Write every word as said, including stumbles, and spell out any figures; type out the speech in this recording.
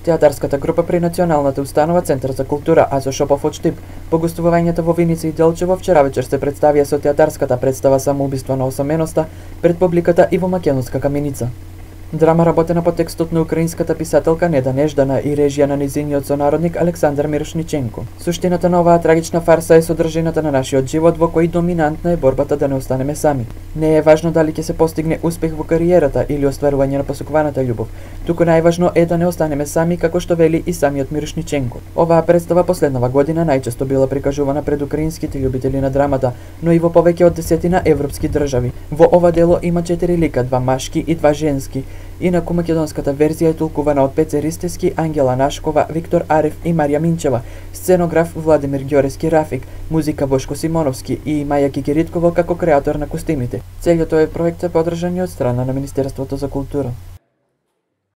театарската група при Националната установа Центар за култура Азо Шопов од Штип. По гостувањето во Виница и Делчево вчера вечер се представија со театарската представа Самоубиство на осаменоста пред публиката и во Македонска каменица. Драма работена по текстот на украинската писателка Неда Неждана и режија на низиниот сонародник Александар Мирошниченко. Суштината на оваа трагична фарса е содржината на нашиот живот во кој доминантна е борбата да не останеме сами. Не е важно дали ќе се постигне успех во кариерата или остварување на посакуваната љубов, туку најважно е да не останеме сами, како што вели и самиот Мирошниченко. Оваа представа последнава година најчесто била прикажувана пред украинските љубители на драмата, но и во повеќе од десетина европски држави. Во ова дело има четири лика, два машки и два женски. Инаку македонската верзија е толкувана од Пеце Ристевски, Ангела Нашкова, Виктор Арев и Марија Минчева, сценограф Владимир Ѓорески Рафик, музика Бошко Симоновски и Маја Кикириткова како креатор на костимите. Целиот овој проект е поддржан и од страна на Министерството за култура.